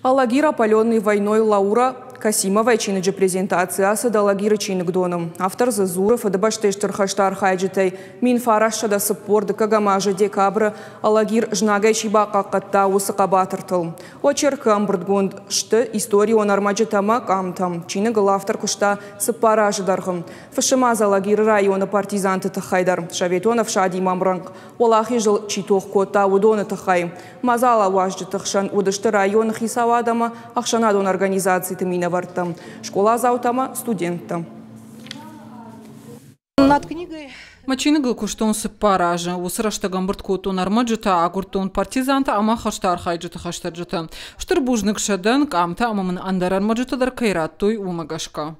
Алагир опаленный войной Лаура Касимовайы чиныджы презентаци ацыд Алагиры чиныгдоны. Автор дзы дзуры Фыдыбӕстӕйы Стыр хӕсты архайджытӕй 1942 азы декабры Алагир знагӕй чи бахъахъхъӕдта, уыцы хъӕбатыртыл. Очеркы ӕмбырдгонд сты историон ӕрмӕджытӕ ӕмӕ къамтӕ. Чиныгыл автор куыста 4 азы дӕргъы. Фыссы ма дзы Алагиры районы партизанты тыххӕй дӕр, Советон ӕфсадимӕ ӕмрӕнхъ Уӕлахизыл чи тох кодта, уыдоны тыххӕй. Мадзалы уазджыты хсӕн уыдысты районы хицауад ӕмӕ ӕхсӕнадон организациты минӕвӕрттӕ, скъоладзаутӕ ӕмӕ студенттӕ. Над книгой Мӕ чиныгыл куыстон 4 азы. Уыцы рӕстӕг ӕмбырд кодтон ӕрмӕджытӕ, агуырдтон партизантӕ ӕмӕ хӕсты архайджыты хӕстӕджыты. Стыр бузныг сӕ дӕн, къамтӕ ӕмӕ мын ӕндӕр ӕрмӕджытӕ дӕр кӕй радтой, уымӕ гӕсгӕ.